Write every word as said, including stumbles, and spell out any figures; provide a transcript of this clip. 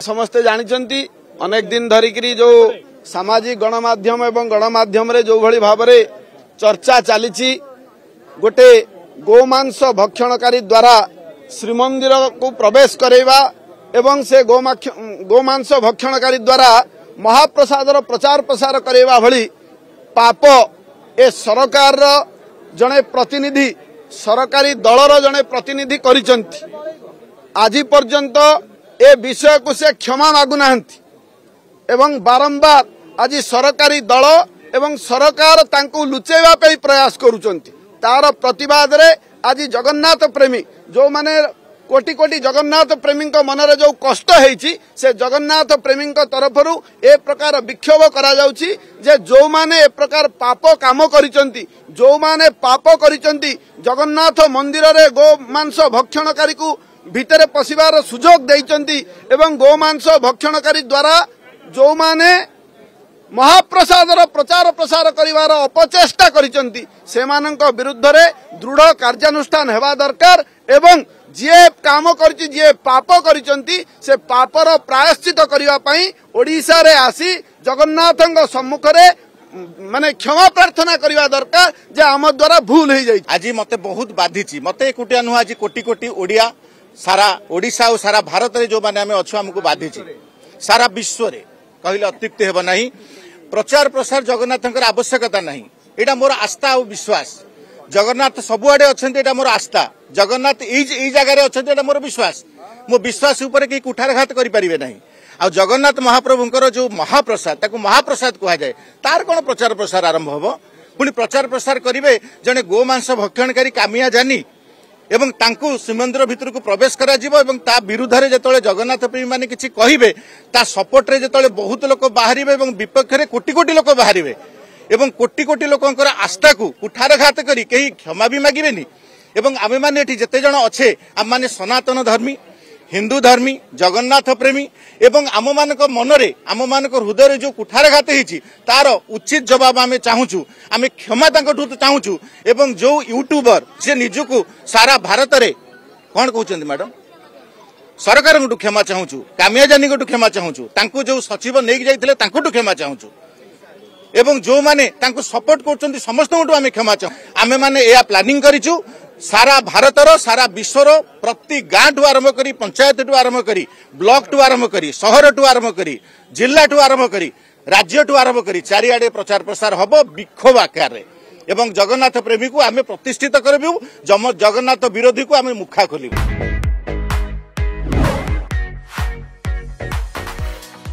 ସମସ୍ତେ ଜାଣିଛନ୍ତି, ଅନେକ ଦିନ ଧରିକିରି ଯେଉଁ ସାମାଜିକ ଗଣମାଧ୍ୟମ ଏବଂ ଗଣମାଧ୍ୟମରେ ଯେଉଁଭଳି ଭାବରେ ଚର୍ଚ୍ଚା ଚାଲିଛି, ଗୋଟେ ଗୋମାଂସ ଭକ୍ଷଣକାରୀ ଦ୍ୱାରା ଶ୍ରୀମନ୍ଦିରକୁ ପ୍ରବେଶ କରାଇବା ଏବଂ ସେ ଗୋମାଂସ ଭକ୍ଷଣକାରୀ ଦ୍ୱାରା ମହାପ୍ରସାଦର ପ୍ରଚାର ପ୍ରସାର କରାଇବା ଭଳି ପାପ ଏ ସରକାରର ଜଣେ ପ୍ରତିନିଧି, ସରକାରୀ ଦଳର ଜଣେ ପ୍ରତିନିଧି କରିଛନ୍ତି। ଆଜି ପର୍ଯ୍ୟନ୍ତ ଏ ବିଷୟକୁ ସେ କ୍ଷମା ମାଗୁନାହାନ୍ତି ଏବଂ ବାରମ୍ବାର ଆଜି ସରକାରୀ ଦଳ ଏବଂ ସରକାର ତାଙ୍କୁ ଲୁଚେଇବା ପାଇଁ ପ୍ରୟାସ କରୁଛନ୍ତି। ତାର ପ୍ରତିବାଦରେ ଆଜି ଜଗନ୍ନାଥ ପ୍ରେମୀ ଯେଉଁମାନେ କୋଟି କୋଟି ଜଗନ୍ନାଥ ପ୍ରେମୀଙ୍କ ମନରେ ଯେଉଁ କଷ୍ଟ ହେଇଛି, ସେ ଜଗନ୍ନାଥ ପ୍ରେମୀଙ୍କ ତରଫରୁ ଏ ପ୍ରକାର ବିକ୍ଷୋଭ କରାଯାଉଛି ଯେ ଯେଉଁମାନେ ଏ ପ୍ରକାର ପାପ କାମ କରିଛନ୍ତି, ଯେଉଁମାନେ ପାପ କରିଛନ୍ତି, ଜଗନ୍ନାଥ ମନ୍ଦିରରେ ଗୋମାଂସ ଭକ୍ଷଣକାରୀକୁ ଭିତରେ ପଶିବାର ସୁଯୋଗ ଦେଇଛନ୍ତି ଏବଂ ଗୋମାଂସ ଭକ୍ଷଣକାରୀ ଦ୍ୱାରା ଯେଉଁମାନେ ମହାପ୍ରସାଦର ପ୍ରଚାର ପ୍ରସାର କରିବାର ଅପଚେଷ୍ଟା କରିଛନ୍ତି, ସେମାନଙ୍କ ବିରୁଦ୍ଧରେ ଦୃଢ଼ କାର୍ଯ୍ୟାନୁଷ୍ଠାନ ହେବା ଦରକାର ଏବଂ ଯିଏ କାମ କରିଛି, ଯିଏ ପାପ କରିଛନ୍ତି, ସେ ପାପର ପ୍ରାୟଶ୍ଚିତ କରିବା ପାଇଁ ଓଡ଼ିଶାରେ ଆସି ଜଗନ୍ନାଥଙ୍କ ସମ୍ମୁଖରେ ମାନେ କ୍ଷମା ପ୍ରାର୍ଥନା କରିବା ଦରକାର ଯେ ଆମ ଦ୍ୱାରା ଭୁଲ ହେଇଯାଇଛି। ଆଜି ମତେ ବହୁତ ବାଧିଛି, ମତେ ଏକୁଟିଆ ନୁହଁ, ଆଜି କୋଟି କୋଟି ଓଡ଼ିଆ ସାରା ଓଡ଼ିଶା ଆଉ ସାରା ଭାରତରେ ଯେଉଁମାନେ ଆମେ ଅଛୁ ଆମକୁ ବାଧିଛି, ସାରା ବିଶ୍ୱରେ କହିଲେ ଅତ୍ୟୁକ୍ତି ହେବ ନାହିଁ। ପ୍ରଚାର ପ୍ରସାର ଜଗନ୍ନାଥଙ୍କର ଆବଶ୍ୟକତା ନାହିଁ, ଏଇଟା ମୋର ଆସ୍ଥା ଆଉ ବିଶ୍ୱାସ। ଜଗନ୍ନାଥ ସବୁଆଡ଼େ ଅଛନ୍ତି, ଏଇଟା ମୋର ଆସ୍ଥା। ଜଗନ୍ନାଥ ଏଇ ଏଇ ଜାଗାରେ ଅଛନ୍ତି, ଏଇଟା ମୋର ବିଶ୍ୱାସ। ମୋ ବିଶ୍ୱାସ ଉପରେ କେହି କୁଠାରଘାତ କରିପାରିବେ ନାହିଁ। ଆଉ ଜଗନ୍ନାଥ ମହାପ୍ରଭୁଙ୍କର ଯୋଉ ମହାପ୍ରସାଦ, ତାକୁ ମହାପ୍ରସାଦ କୁହାଯାଏ, ତାର କ'ଣ ପ୍ରଚାର ପ୍ରସାର ଆରମ୍ଭ ହବ? ପୁଣି ପ୍ରଚାର ପ୍ରସାର କରିବେ ଜଣେ ଗୋମାଂସ ଭକ୍ଷଣକାରୀ କାମିଆ ଜାନି ଏବଂ ତାଙ୍କୁ ଶ୍ରୀମନ୍ଦିର ଭିତରକୁ ପ୍ରବେଶ କରାଯିବ ଏବଂ ତା ବିରୁଦ୍ଧରେ ଯେତେବେଳେ ଜଗନ୍ନାଥ ପ୍ରେମୀମାନେ କିଛି କହିବେ, ତା ସପୋର୍ଟରେ ଯେତେବେଳେ ବହୁତ ଲୋକ ବାହାରିବେ ଏବଂ ବିପକ୍ଷରେ କୋଟି କୋଟି ଲୋକ ବାହାରିବେ ଏବଂ କୋଟି କୋଟି ଲୋକଙ୍କର ଆସ୍ଥାକୁ କୁଠାରଘାତ କରି କେହି କ୍ଷମା ବି ମାଗିବେନି। ଏବଂ ଆମେମାନେ ଏଠି ଯେତେ ଜଣ ଅଛେ, ଆମମାନେ ସନାତନ ଧର୍ମୀ, ହିନ୍ଦୁ ଧର୍ମୀ, ଜଗନ୍ନାଥ ପ୍ରେମୀ ଏବଂ ଆମମାନଙ୍କ ମନରେ, ଆମମାନଙ୍କ ହୃଦୟରେ ଯେଉଁ କୁଠାରଘାତ ହେଇଛି ତାର ଉଚିତ ଜବାବ ଆମେ ଚାହୁଁଛୁ, ଆମେ କ୍ଷମା ତାଙ୍କଠୁ ଚାହୁଁଛୁ। ଏବଂ ଯେଉଁ ୟୁଟ୍ୟୁବର ସେ ନିଜକୁ ସାରା ଭାରତରେ କ'ଣ କହୁଛନ୍ତି ମ୍ୟାଡମ, ସରକାରଙ୍କଠୁ କ୍ଷମା ଚାହୁଁଛୁ, କାମିଆ ଜାନିଙ୍କଠୁ କ୍ଷମା ଚାହୁଁଛୁ, ତାଙ୍କୁ ଯେଉଁ ସଚିବ ନେଇକି ଯାଇଥିଲେ ତାଙ୍କଠୁ କ୍ଷମା ଚାହୁଁଛୁ ଏବଂ ଯେଉଁମାନେ ତାଙ୍କୁ ସପୋର୍ଟ କରୁଛନ୍ତି ସମସ୍ତଙ୍କଠୁ ଆମେ କ୍ଷମା ଚାହୁଁ। ଆମେମାନେ ଏହା ପ୍ଲାନିଂ କରିଛୁ, ସାରା ଭାରତର ସାରା ବିଶ୍ୱର ପ୍ରତି ଗାଁଠୁ ଆରମ୍ଭ କରି ପଞ୍ଚାୟତଠୁ ଆରମ୍ଭ କରି ବ୍ଲକଠୁ ଆରମ୍ଭ କରି ସହରଠୁ ଆରମ୍ଭ କରି ଜିଲ୍ଲାଠୁ ଆରମ୍ଭ କରି ରାଜ୍ୟଠୁ ଆରମ୍ଭ କରି ଚାରିଆଡ଼େ ପ୍ରଚାର ପ୍ରସାର ହବ ବିକ୍ଷୋଭ ଆକାରରେ ଏବଂ ଜଗନ୍ନାଥ ପ୍ରେମୀକୁ ଆମେ ପ୍ରତିଷ୍ଠିତ କରିବୁ, ଜଗନ୍ନାଥ ବିରୋଧୀକୁ ଆମେ ମୁଖା ଖୋଲିବୁ।